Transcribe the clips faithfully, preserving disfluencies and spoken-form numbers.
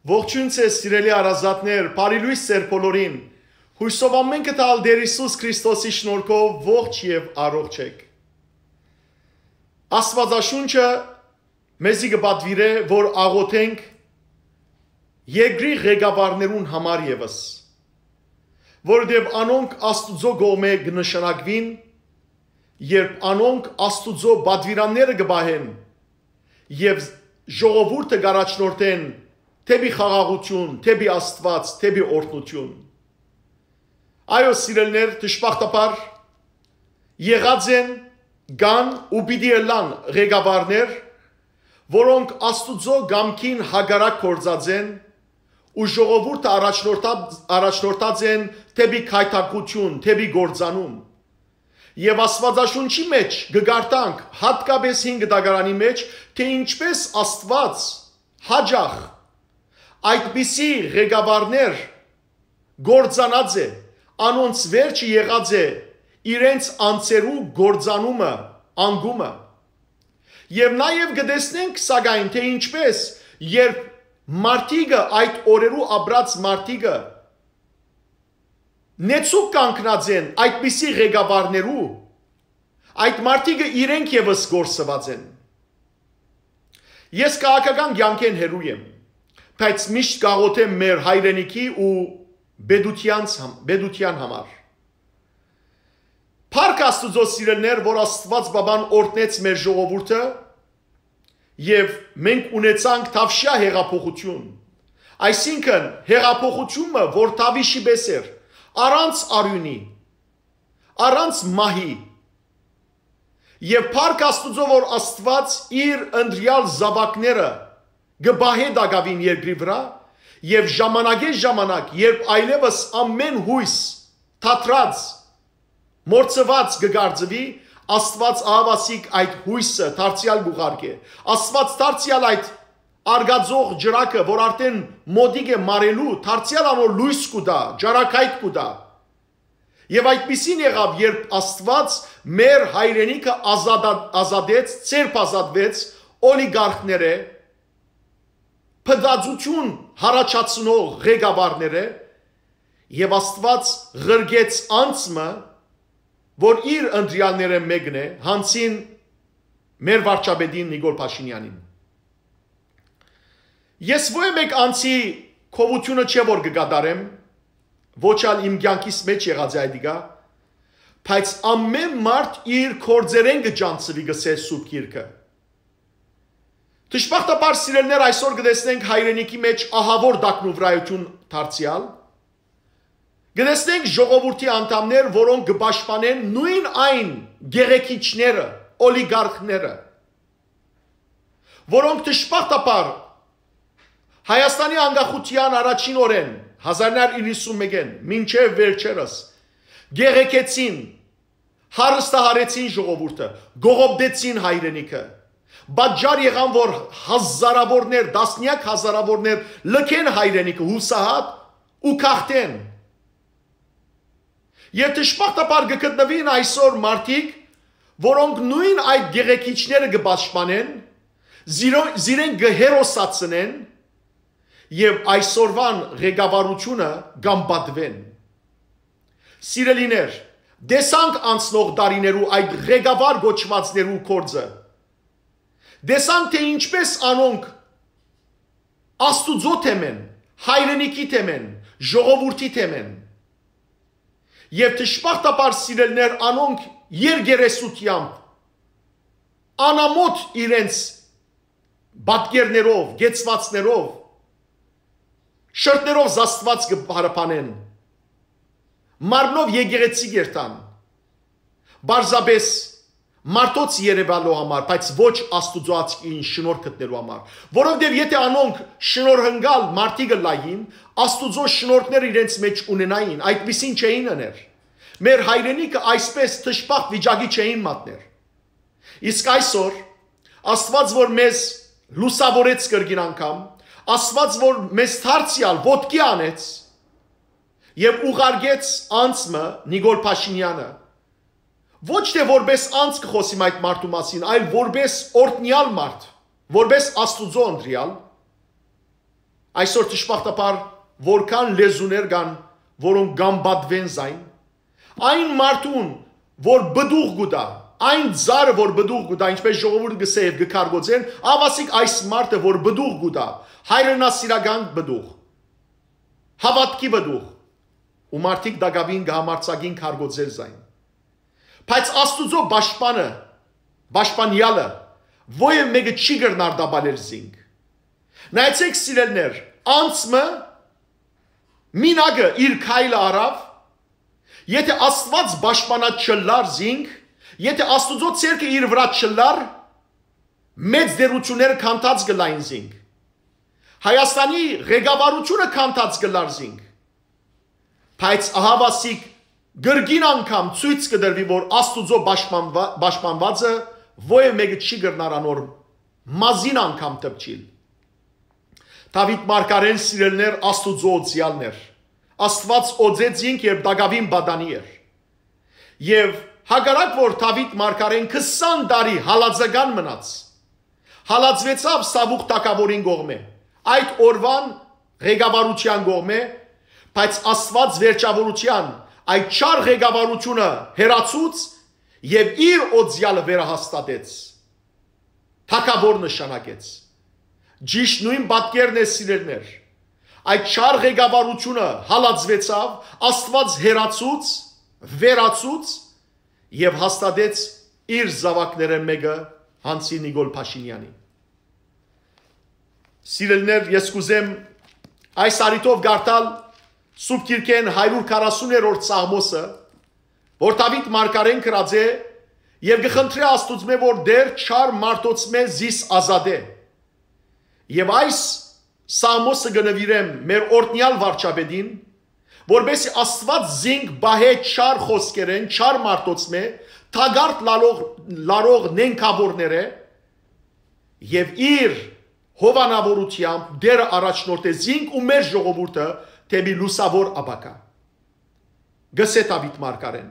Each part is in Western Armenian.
Ողջույն ձեզ, սիրելի հարազատներ, բարի լոյս ձեր բոլորին։ Յուսով ամէնքը տալ Տեր Յիսուս Քրիստոսի շնորհքով ողջ եւ առողջ եք։ Աստուածաշունչը մեզի կը պատուիրէ, որ աղոթենք երկրի ղեկավարներուն համար եւս, որովհետեւ անոնք Աստուծոյ կողմէ կը նշանակուին, երբ անոնք Աստուծոյ պատուիրանները կը պահեն եւ ժողովուրդը կ'առաջնորդեն դէպի խաղաղութիւն, դէպի Աստուած, դէպի օրհնութիւն։ Այո, սիրելիներ, դժբախտաբար եղած են, կան ու պիտի ըլլան ղեկավարներ, որոնք Աստուծոյ կամքին հակառակ գործած են ու ժողովուրդը առաջնորդած, առաջնորդած են դէպի գայթակղութիւն, դէպի կործանում։ Եւ Աստուածաշունչի մէջ կը կարդանք, յատկապէս հին կտակարանի մէջ, թէ ինչպէս Աստուած յաճախ այդպիսի ղեկավարներ կործանած է, անոնց վերջը եղած է իրենց անձերու կործանումը, անկումը։ Եւ նաեւ կը տեսնենք, սակայն, թէ ինչպէս, երբ մարդիկը, այդ օրերու ապրած մարդիկը, նեցուկ կանգնած են այդպիսի ղեկավարներու, այդ մարդիկը իրենք եւս կորսուած են։ Ես քաղաքական կեանքէն հեռու եմ, բայց միշտ կաղոթեմ մեր հայրենիքի ու պետութեանց համ-, պետութեան համար։ Փառք Աստուծոյ, սիրելիներ, որ Աստուած Պապան օրհնեց մեր ժողովուրդը եւ մենք ունեցանք թավշյա հեղափոխութիւն։ Այսինքն, հեղափոխութիւնը, որ թաւիշի պէս էր, առանց արիւնի, առանց մահի։ Եւ փառք Աստուծոյ, որ Աստուած իր ընտրեալ զաւակները կը պահէ տակաւին երկրի վրայ, եւ ժամանակէ ժամանակ, երբ այլեւս ամէն յոյս թատրած, մոռցուած կը կարծուի, Աստուած ահաւասիկ այդ յոյսը դարձեալ կ'ուղարկէ։ Աստուած դարձեալ այդ արգածող ճրագը, որ արդէն մօտիկ է մարելու, դարձեալ անոր լոյս կու տայ, ճառագայթ կու տայ։ Եւ այդպիսին եղաւ, երբ Աստուած մեր հայրենիքը ազատա-, ազատեց, ձերբազատվեց օլիգարխներէ, փտածութիւն յառաջացնող ղեկավարներէ, եւ Աստուած ղրկեց անձ մը, որ իր ընտրեալներէն մէկն է, յանցին մեր վարչապետին Նիկոլ Փաշինեանին։ Ես ոյ մէկ անձի գովութիւնը չէ որ կը կատարեմ, ոչ ալ իմ կեանքիս մէջ եղած է այդ իկա, բայց ամէն մարդ իր գործերէն կը ճանչցուի, կ'ըսէ Սուրբ Գիրքը։ Դժբախտաբար, սիրելիներ, այսօր կը տեսնենք հայրենիքի մէջ ահաւոր տակնուվրայութիւն դարձեալ։ Կը տեսնենք ժողովուրդի անդամներ, որոնք կը պաշտպանեն նոյն այն գեղեցիչները, օլիգարխները, որոնք դժբախտաբար Հայաստանի անկախութեան առաջին օրէն, հազար իննսուն մէկէն, մինչեւ վերջերս, գեղեցկեցին, հարստահարեցին ժողովուրդը, կողոպտեցին հայրենիքը, պատճառ եղան, որ հազարաւորներ, տասնեակ հազարաւորներ լքեն հայրենիքը յուսահատ ու գաղթեն։ Եւ դժբախտաբար կը գտնուին այսօր մարդիկ, որոնք նոյն այդ գեղեցիչները կը պաշտպանեն, զիրո-, զիրեն կը հերոսացնեն եւ այսօրուան ղեկավարութիւնը կ'անպատուեն։ Սիրելիներ, տեսանք անցնող տարիներու այդ ղեկավար կոչուածներու գործը։ Տեսանք, թէ ինչպէս անոնք Աստուծոյ թեմէն, հայրենիքի թեմէն, ժողովուրդի թեմէն։ Եւ դժբախտաբար, սիրելիներ, անոնք երկերեսութեամբ, անամոթ իրենց պատկերներով, կեցուածներով, շրթներով զաստուած կը փարփանեն, մարմնով եկեղեցի կ'երթան, պարզապէս մարդոց երեւալու համար, բայց ոչ Աստուծոյ աչքին շնորհ գտնելու համար, որովհետեւ եթէ անոնք շնորհընկալ մարդիկ ըլլային, Աստուծոյ շնորհքները իրենց մէջ ունենային, այդպիսին չէին ըներ։ Մեր հայրենիքը այսպէս դժբախտ վիճակի չէին մատներ։ Իսկ այսօր Աստուած, որ մեզ լուսաւորեց կրկին անգամ, Աստուած, որ մեզ դարձեալ ոտքի անեց եւ ուղարկեց անձ մը, Նիկոլ Փաշինեանը, ոչ թէ որպէս անձ կը խօսիմ այդ մարդու մասին, այլ որպէս օրհնեալ մարդ, որպէս Աստուծոյ ընտրեալ, այսօր դժբախտաբար որքան լեզուներ կան, որոնք կամբատվեն զայն, այն մարդուն, որ պտուղ կու տայ, այն ծառը, որ պտուղ կու տայ, ինչպես ժողովուրդը կ'ըսէ եւ կը քարկոծեն, ահա ասիկ այս մարդը, որ պտուղ կու տայ, հայրենասիրական պտուղ, հաւատքի պտուղ, ու մարդիկ տակաւին կը համարձակին քարկոծել զայն։ Բայց Աստուծոյ պաշտպանը, պաշտպանեալը, ոեւ մէկը չի կրնար տապալել զինք։ Նայեցէք, սիրելիներ, անցքը, մինակը իր քայլը առաւ, եթէ Աստուած պաշտպանած չըլլար զինք, եթէ Աստուծոյ ձեռքը իր վրայ չըլլար, մեծ տէրութիւնները քանդած կ'ըլլային զինք։ Հայաստանի ղեկավարութիւնը քանդած կ'ըլլար զինք։ Բայց ահա ասիկ կրկին անգամ ցոյց կը տրուի, որ Աստուծոյ պաշտպանուա-, պաշտպանուածը ոեւ մէկը չի կրնար անոր մազին անգամ դպչիլ։ Դաւիթ մարգարէն, սիրելիներ, Աստուծոյ օծեալն էր։ Աստուած օծեց զինք, երբ տակաւին պատանի էր։ Եւ հակառակ որ Դաւիթ մարգարէն քսան տարի հալածական մնաց, հալածուեցաւ Սաւուղ թագաւորին կողմէ, այդ օրուան ղեկավարութեան կողմէ, բայց Աստուած վերջաւորութեան այդ չար ղեկավարութիւնը հեռացուց եւ իր օծեալը վերահաստատեց, թագաւոր նշանակեց։ Ճիշդ նոյն պատկերն է, սիրելիներ։ Այդ չար ղեկավարութիւնը հալածուեցաւ, Աստուած հեռացուց, վերացուց եւ հաստատեց իր զաւակներէն մէկը, Հանցի Նիկոլ Փաշինեանի։ Սիրելիներ, ես կ'ուզեմ այս առիթով կարդալ Սուրբ Գիրքէն հարիւր քառասուներորդ Սաղմոսը, որ Դաւիթ մարգարէն գրած է եւ կը խնդրէ Աստուծմէ, որ Տէր, չար մարդոցմէ զիս ազատէ։ Եւ այս Սաղմոսը կը նուիրեմ մեր օրհնեալ վարչապետին, որպեսզի Աստուած զինք պահէ չար խօսքերէն, չար մարդոցմէ, թակարդ լալող, լարող նենգաւորներէ, եւ իր հովանաւորութեամբ Տէրը առաջնորդէ զինք ու մեր ժողովուրդը դէպի լուսաւոր ապագայ։ Գսէ Դաւիթ մարգարէն.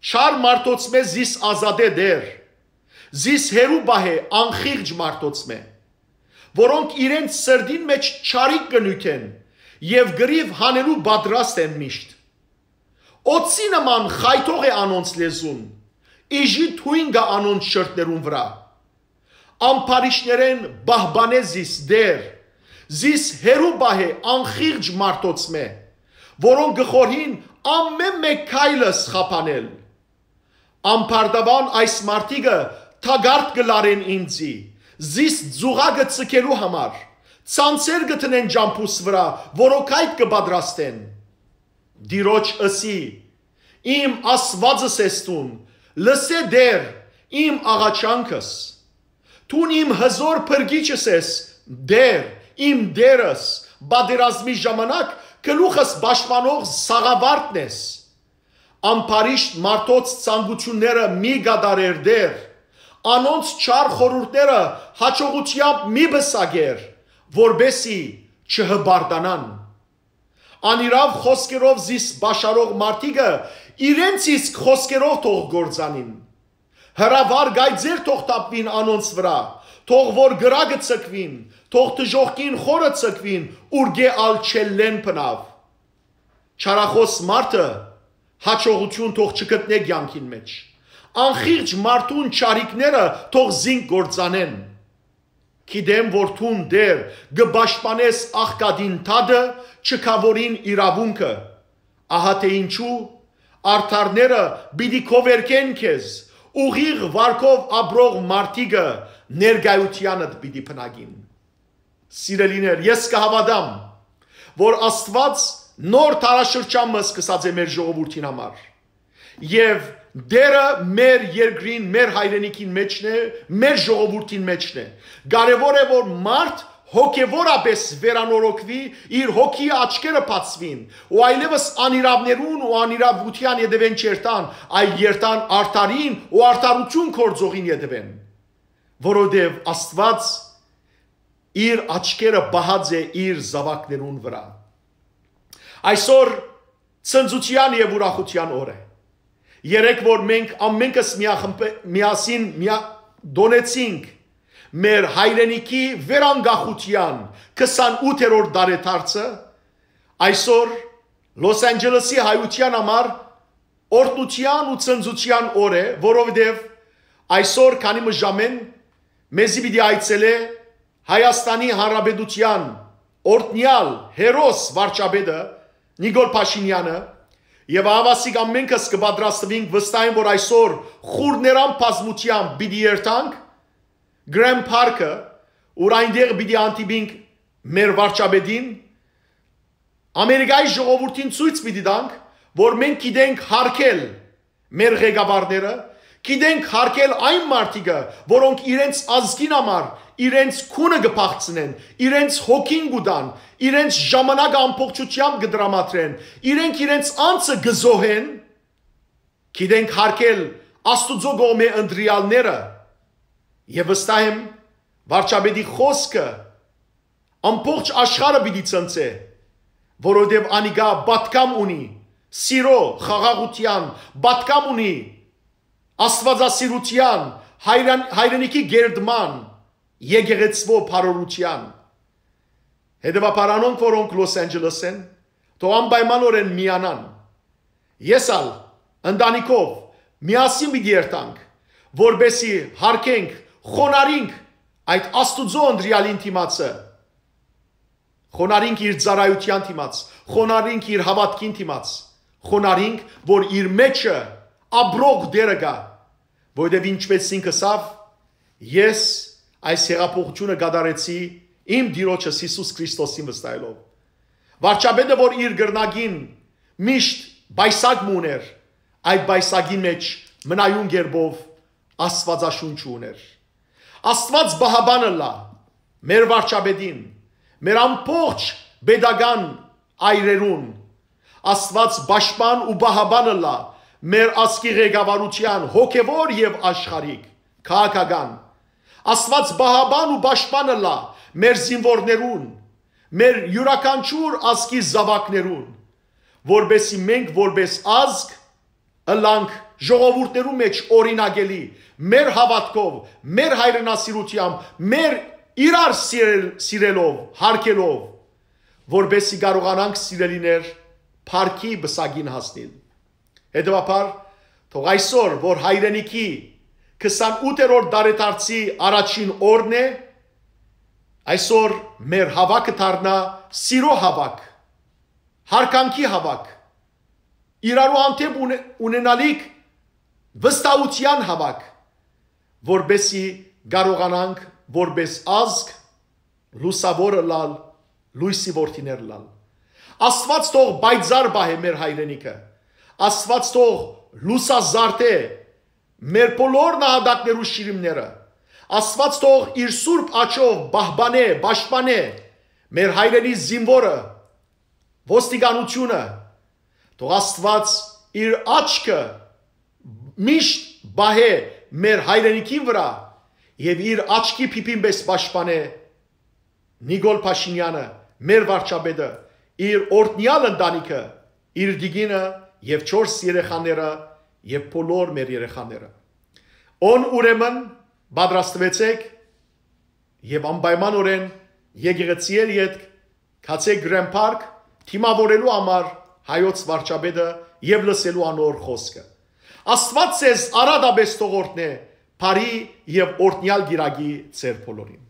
«Չար մարդոցմէ զիս ազատէ Տէր, զիս հեռու պահէ անխիղճ մարդոցմէ, որոնք իրենց սրտին մէջ չարիք կը նիւթեն եւ կռիւ հանելու պատրաստ են միշտ։ Օձի նման խայթող է անոնց լեզուն, իժի թոյն կայ անոնց շրթներուն վրայ։ Ամբարիշտներէն պահպանէ զիս Տէր, զիս հեռու պահէ անխիղճ մարդոցմէ, որոնք կը խորհին ամէն մէկ քայլս խափանել։ Ամբարտաւան այս մարդիկը թակարդ կը լարեն ինծի, զիս ձուղակը ձգելու համար, ցանցեր կը դնեն ճամբուս վրայ, որոքայթ կը պատրաստեն։ Տիրոջ ըսի. իմ Աստուածս ես դուն, լսէ Տէր, իմ աղաչանքս։ Դուն իմ հզոր փրկիչս ես, Տէր, իմ Տէրս, պատերազմի ժամանակ գլուխս պաշտպանող սաղավարտն ես։ Ամբարիշտ մարդոց ցանկութիւնները մի կատարեր Տէր, անոնց չար խորհուրդները յաջողութեամբ մի պսակեր, որպեսզի չհպարտանան։ Անիրաւ խօսքերով զիս պաշարող մարդիկը իրենց իսկ խօսքերով թող կործանին։ Հրաւար կայծեր թող թափուին անոնց վրայ, թող որ կրակը ձգուին, թող դժոխքին խորը ձգուին, ուրկէ ալ չելլեն բնաւ։ Չարախօս մարդը յաջողութիւն թող չգտնէ կեանքին մէջ։ Անխիղճ մարդուն չարիքները թող զինք կործանեն։ Գիտեմ որ դուն, Տէր, կը պաշտպանես աղքատին դատը, չքաւորին իրաւունքը։ Ահա թե ինչու արդարները պիտի քովերկեն քեզ, ուղիղ վարկով ապրող մարդիկը ներկայութեանդ պիտի բնակին։ Սիրելիներ, ես կը հաւատամ, որ Աստուած նոր դարաշրջան մը սկսած է մեր ժողովուրդին համար։ Եւ Տէրը մեր երկրին, մեր հայրենիքին մէջն է, մեր ժողովուրդին մէջն է։ Կարեւոր է, որ մարդ հոգեւորապէս վերանորոգուի, իր հոգի աչքերը բացուին, ու այլեւս անիրաւներուն ու անիրաւութեան ետեւէն չերթան, այլ երթան արդարին ու արդարութիւն գործողին ետեւէն, որովհետեւ Աստուած իր աչքերը պահած է իր զաւակներուն վրայ։ Այսօր ցնծութեան եւ ուրախութեան օր է։ Երեկ որ մենք ամենքս միախմբե-, միասին միա-, տոնեցինք մեր հայրենիքի վերանկախութեան քսանութերորդ տարեդարձը, այսօր Լոս Անջելեսի հայութեան համար օրհնութեան ու ցնծութեան օր է, որովհետեւ այսօր քանի մը ժամեն մեզի պիտի այցելէ Հայաստանի Հանրապետութեան օրհնեալ հերոս վարչապետը Նիկոլ Փաշինեանը, եւ ահաւասիկ ամենքս կը պատրաստուինք, վստահ եմ, որ այսօր խուռներան բազմութեամբ պիտի երթանք Grant Park-ը, ուր այնտեղ պիտի հանդիպինք մեր վարչապետին, Ամերիկայի ժողովուրդին ցոյց պիտի տանք, որ մենք գիտենք յարգել մեր ղեկավարները, գիտենք յարգել այն մարդիկը, որոնք իրենց ազգին համար իրենց քունը կը փախցնեն, իրենց հոգին կու տան, իրենց ժամանակը ամբողջությամբ կը տրամադրեն, իրենք իրենց անձը կը զոհեն, գիտենք յարգել Աստուծոյ կողմէ ընտրեալները, եւ վստահ եմ, վարչապետի խօսքը ամբողջ աշխարհը պիտի ցնցէ, որովհետեւ անիկա պատգամ ունի սիրո, խաղաղութեան, պատգամ ունի աստուածասիրութեան, հայրան-, հայրենիքի գերդման, եկեղեցւոյ բարօրութեան։ Հետեւաբար անոնք, որոնք Լոս Անջելես են, թող անպայմանօրէն միանան։ Ես ալ ընտանիքով միասին պիտի երթանք, որպեսզի յարգենք, խոնարհենք այդ Աստուծոյ ընտրեալին դիմացը, խոնարհենք իր ծառայութեան դիմաց, խոնարհենք իր հաւատքին դիմաց, խոնարհենք, որ իր մեջը ապրող Տէրը կայ, որովհետեւ ինչպէս ինք ըսաւ, «Ես այս հեղափոխութիւնը կատարեցի իմ Տիրոջս Յիսուս Քրիստոսին վստահելով»։ Վարչապետը, որ իր կրնակին միշտ պայսակ մը ունէր, այդ պայսակին մէջ մնայուն կերպով Աստուածաշունչը ունէր։ Աստուած պահապան ըլլայ մեր վարչապետին, մեր ամբողջ պետական այրերուն։ Աստուած պաշտպան ու պահապան ըլլայ մեր ազգի ղեկավարութեան, հոգեւոր եւ աշխարհիկ, քաղաքական։ Աստուած պահապան ու պաշտպան ըլլայ մեր զինուորներուն, մեր իւրաքանչիւր ազգի զաւակներուն, որպեսզի մենք որպէս ազգ ըլլանք ժողովուրդներու մէջ օրինակելի, մեր հաւատքով, մեր հայրենասիրութեամբ, մեր իրար սիրել-, սիրելով, յարգելով, որպեսզի կարողանանք, սիրելիներ, փառքի պսակին հասնիլ։ Հետեւաբար, թող այսօր, որ հայրենիքի քսանութերորդ տարեդարձի առաջին օրն է, այսօր մեր հաւաքը դառնայ սիրո հաւաք, յարգանքի հաւաք, իրարու հանդէպ ունե-, ունենալիք վստահութեան հաւաք, որպեսզի կարողանանք որպէս ազգ լուսաւոր ըլլալ, լոյսի որդիներ ըլլալ։ Աստուած թող պայծառ պահէ մեր հայրենիքը։ Աստուած թող լուսազարդէ մեր բոլոր նահատակներու շիրիմները։ Աստուած թող իր սուրբ աջով պահպանէ, պաշտպանէ մեր հայրենի զինուորը, ոստիկանութիւնը։ Թող Աստուած իր աչքը միշտ պահէ մեր հայրենիքին վրայ եւ իր աչքի փիփին պէս պաշտպանէ Նիկոլ Փաշինեանը, մեր վարչապետը, իր օրհնեալ ընտանիքը, իր տիկինը եւ չորս երեխաները եւ բոլոր մեր երեխաները։ Ան ուրեմն պատրաստուեցէք եւ անպայմանօրէն եկեղեցիէն ետք գացէք Grant Park դիմաւորելու համար հայոց վարչապետը եւ լսելու անոր խօսքը։ Աստուած ձեզ արատապէս թող օրհնէ բարի եւ օրհնեալ կիրակի ձեր բոլորին։